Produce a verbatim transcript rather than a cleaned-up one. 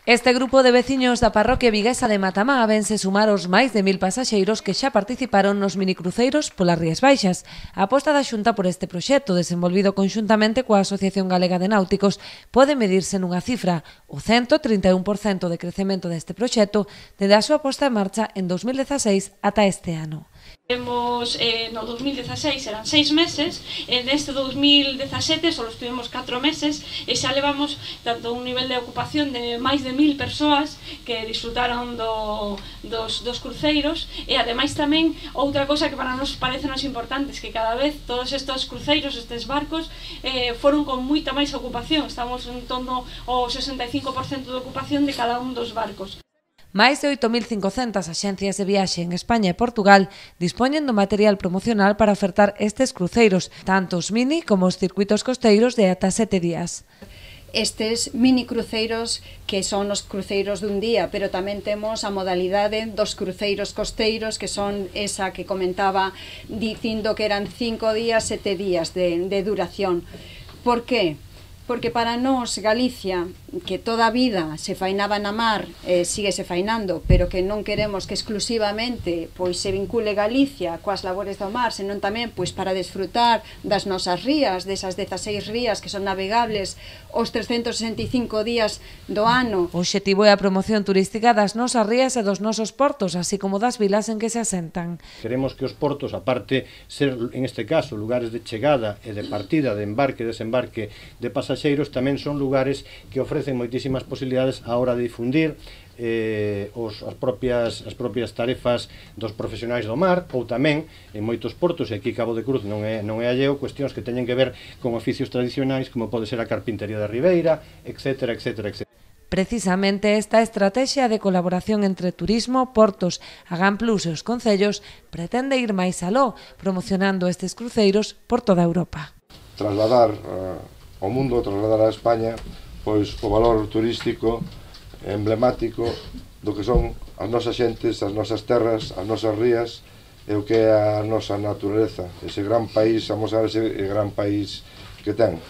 Este grupo de veciños da parroquia viguesa de Matamá vense sumar os máis de mil pasaxeiros que xa participaron nos minicruceiros polas Rías Baixas. A aposta da Xunta por este proxecto, desenvolvido conxuntamente coa Asociación Galega de Náuticos, pode medirse nunha cifra, o cento trinta e un por cento de crecemento deste proxecto desde a súa posta en marcha en dos mil dezaseis ata este ano. Temos, eh, no dos mil dezaseis eran seis meses, e neste dos mil dezasete só estuvimos catro meses e xa levamos tanto un nivel de ocupación de máis de mil persoas que disfrutaron do, dos, dos cruceiros, e ademais tamén outra cosa que para nos parece nos importante é que cada vez todos estes cruceiros, estes barcos eh, foron con moita máis ocupación. Estamos en torno ao sesenta e cinco por cento de ocupación de cada un dos barcos. Máis de oito mil cincocentas axencias de viaxe en España e Portugal dispoñen do material promocional para ofertar estes cruceiros, tanto os mini como os circuitos costeiros de ata sete días. Estes mini cruceiros que son os cruceiros dun día, pero tamén temos a modalidade dos cruceiros costeiros, que son esa que comentaba dicindo que eran cinco días, sete días de, de duración. Por qué? Porque para nós, Galicia, que toda a vida se fainaba na mar, eh, sigue se fainando, pero que non queremos que exclusivamente pois se vincule Galicia coas labores do mar, senón tamén pois para desfrutar das nosas rías, desas dezaseis rías que son navegables os trescentos sesenta e cinco días do ano. O obxectivo é a promoción turística das nosas rías e dos nosos portos, así como das vilas en que se asentan. Queremos que os portos, aparte ser, en este caso, lugares de chegada e de partida, de embarque e desembarque de pasaxeiros, tamén son lugares que ofrecen moitísimas posibilidades á hora de difundir eh, os, as, propias, as propias tarefas dos profesionais do mar, ou tamén en moitos portos, e aquí Cabo de Cruz non é, non é alleo, cuestións que teñen que ver con oficios tradicionais como pode ser a carpintería da Ribeira, etcétera, etcétera, etcétera. Precisamente esta estrategia de colaboración entre turismo, portos, Agan Plus e os concellos pretende ir máis aló, promocionando estes cruceiros por toda Europa. Trasladar uh, ao mundo, trasladar a España pois o valor turístico emblemático do que son as nosas xentes, as nosas terras, as nosas rías e o que é a nosa natureza, ese gran país, amosar ese gran país que ten.